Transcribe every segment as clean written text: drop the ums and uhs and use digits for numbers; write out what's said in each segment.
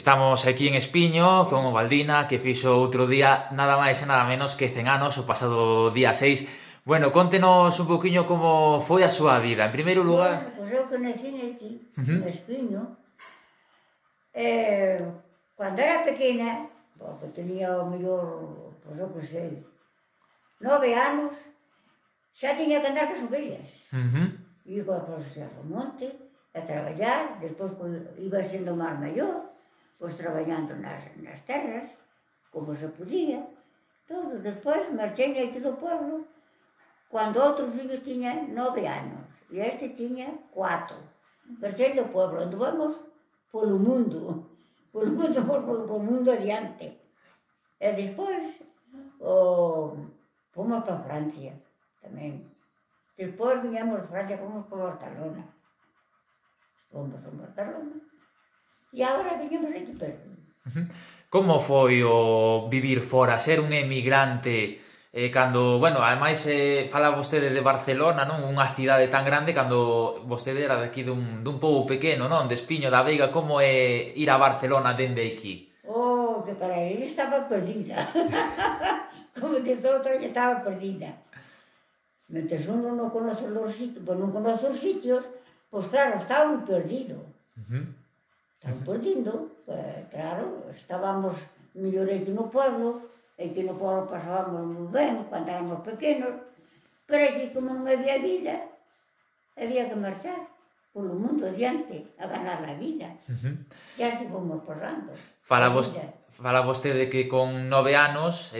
Estamos aquí en Espiño con o Baldina, que fixo outro día nada máis e nada menos que 100 anos, o pasado día 6. Bueno, contenos un poquinho como foi a súa vida. En primeiro Bueno, lugar... pois eu que nací aquí, en Ujú. Espiño, cando era pequena, porque tenía o mellor, pois eu que sei, 9 anos, xa tiña que andar cas ovellas. Ujú. Iba pois ao monte a traballar, despois iba sendo máis maior, pois traballando nas terras, como se podía, todo. Despois marchei aquí do pueblo, cando outro fillo tiña 9 anos, e este tiña 4. Marchei do pueblo, anduvamos polo mundo, polo mundo adiante. E despois, fomos para Francia, tamén. Despois viñamos de Francia, fomos para Barcelona. Fomos a Barcelona. E agora viñamos aquí perto. Como foi o vivir fora, ser un emigrante, cando, bueno, ademais fala vostede de Barcelona, non? Unha cidade tan grande, cando vostede era daqui dun pobo pequeno, non? De Espiño da Veiga, como é ir a Barcelona dende aquí? Oh, que carai, eu estaba perdida. Como diz outra, eu estaba perdida. Mentres uno non conoce os sitios, pois non conoce os sitios, pois claro, estaba un perdido. Estaba perdido, claro, estábamos mellor aquí no pueblo, aquí no pueblo pasábamos moi ben, cando éramos pequenos, pero aquí como non había vida, había que marchar polo mundo adiante, a ganar a vida. E así fomos pasando. Fala vostede que con 9 anos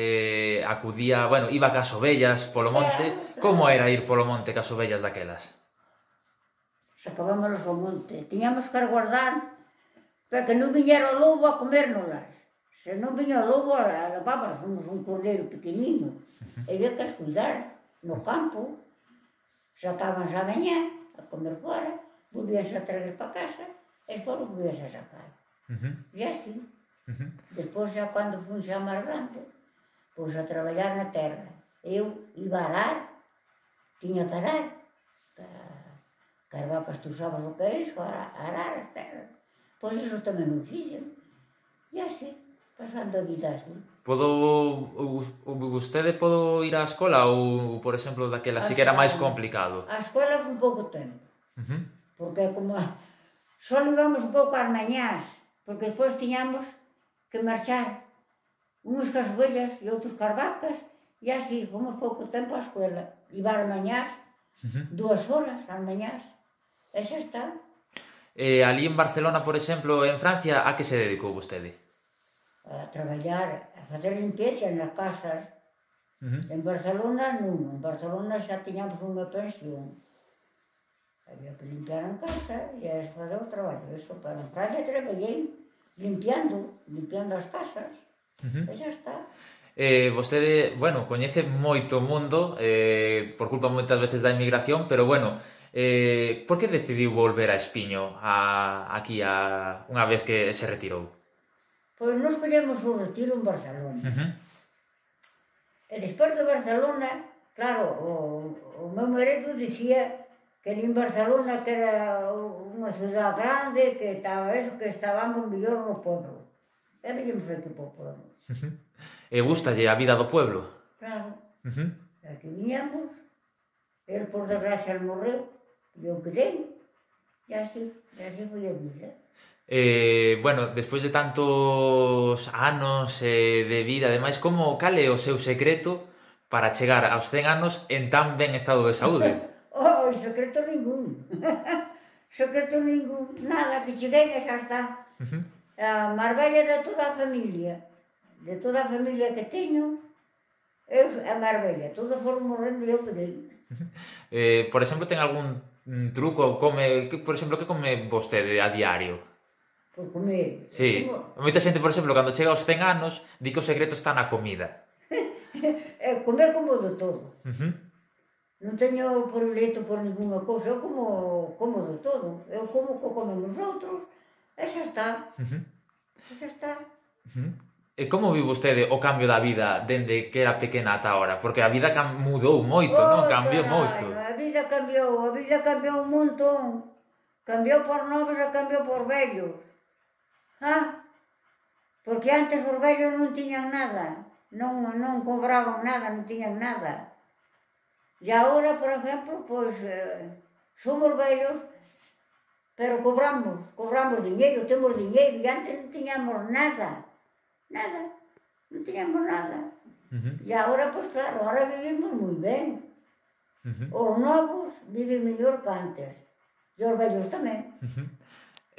acudía, bueno, iba cas ovellas polo monte. Claro. Como era ir polo monte cas ovellas daquelas? Sacábamos ao monte, tiñamos que aguardar para que non viñera o lobo a comérnoslas. Se non viña o lobo, levábamos un cordeiro pequeniño, e había que as cuidar no campo. Sacábanse a mañá a comer fora, volvíanse a traer para casa, e despois volvíanse a sacar. E así. Despois, xa cando fun xa máis grande, pois a traballar na terra. Eu iba a arar, tiña que arar, as vacas tú sabes o que é iso, arar as terras. Pois iso tamén o fixen. E así, pasando a vida así. Vostede podo ir á escola ou, por exemplo, daquela si que era máis complicado? A escola foi un pouco tempo. Porque como só íbamos un pouco ás mañás, porque despois tiñamos que marchar uns cas ovellas e outros cas vacas, e así fomos pouco tempo á escola. Iba ás mañás, 2 horas ás mañás, e xa está. Ali en Barcelona, por exemplo, en Francia, a que se dedicou vostede? A traballar, a facer limpieza nas casas. En Barcelona non, en Barcelona xa tiñamos unha pensión. Había que limpiar en casa e a fazer o traballo. Eso, para en Francia traballei limpiando as casas, e xa está. Vostede, bueno, coñece moito o mundo, por culpa moitas veces da emigración, pero bueno, por que decidiu volver a Espiño aquí unha vez que se retirou? Pois nos collemos o retiro en Barcelona. E despois de Barcelona, claro, o meu marido dicía que en Barcelona que era unha ciudad grande, que estaba eso, que estábamos mellor no pueblo. E veñemos aquí para o pueblo. E gustalle a vida do pueblo? Claro. Aquí viñamos, el por desgracia morreu, e eu quedei, e así foi a vida. Bueno, despois de tantos anos de vida, ademais, cal é o seu secreto para chegar aos 100 anos en tan ben estado de saúde? Oh, secreto ningún. Secreto ningún. Nada, que cheguei e xa está. A máis bella de toda a familia que teño, eu a máis bella. Todos foron morrendo e eu quedei. Por exemplo, ten algún truco? Por exemplo, que come vostede a diario? Por comer. Sí. Moita xente, por exemplo, cando chega aos 100 anos, di que o secreto está na comida. Comer como de todo. Non teño predilecto por ninguna cousa, eu como de todo. Eu como o que comen os outros, e xa está. E xa está. E como viu vostede o cambio da vida dende que era pequena ata ahora? Porque a vida mudou moito, non? Cambiou moito. A vida cambiou un montón. Cambiou por novos e cambiou por vellos. Porque antes os vellos non tiñan nada, non cobraban nada, non tiñan nada. E agora, por exemplo, pois, somos vellos, pero cobramos diñeiro, temos diñeiro, e antes non tiñamos nada, non tiñamos nada. E agora, pois claro, agora vivimos moi ben. Os novos viven mellor que antes, e os vellos tamén.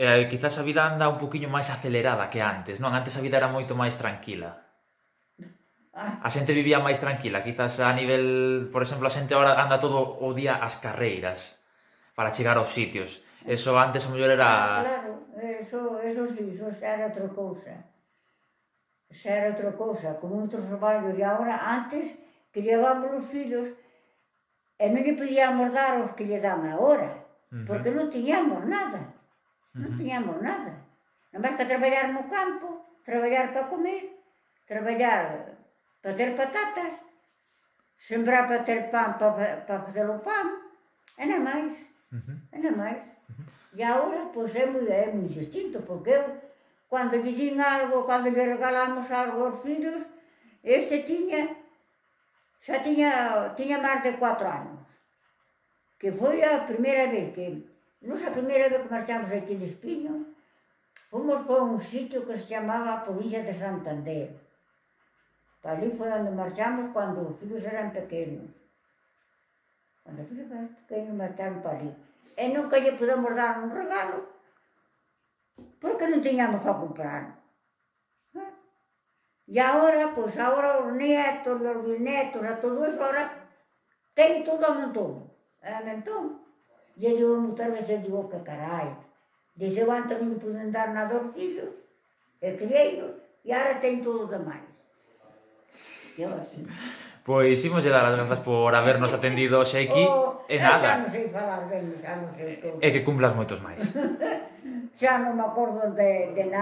Quizás a vida anda un poquinho máis acelerada que antes, non? Antes a vida era moito máis tranquila. A xente vivía máis tranquila, quizás a nivel, por exemplo, a xente agora anda todo o día ás carreiras para chegar aos sitios. Eso antes a mellor era... Claro, eso sí, eso xa era outra cousa. Xa era outra cousa, con outros traballos. E agora, antes, que llevábamos os fillos, e non lle podíamos dar os que lle dan agora, porque non tiñamos nada. Non tiñamos nada. Nada máis que traballar no campo, traballar para comer, traballar para ter patatas, sembrar para ter pan, para facer o pan, e nada máis. E nada máis. E agora, pois, é moi distinto, porque eu, cando lle din algo, cando lle regalamos algo aos fillos, este xa tiña máis de 4 anos. Que foi a primeira vez que... Nos a primeira vez que marchamos aquí de Espiño, fomos por un sitio que se chamaba Provincia de Santander. Para ali foi onde marchamos cando os filhos eran pequenos. Cando os filhos eran pequenos, marcharon para ali. E nunca lle podemos dar un regalo, porque non tiñamos para comprar. E agora, pois agora os netos e os bisnetos, a todo eso, agora ten todo a montón. A montón. E eu moitas veces digo que carai, dice, eu antes non lle puden dar nada aos filhos, e crieiros, e agora ten todo demais. E eu así. Pois imos dar as grazas por habernos atendido hoxe aquí, e nada. Xa non sei falar ben, xa non sei. E que cumplas moitos máis. Xa non me acordo de nada.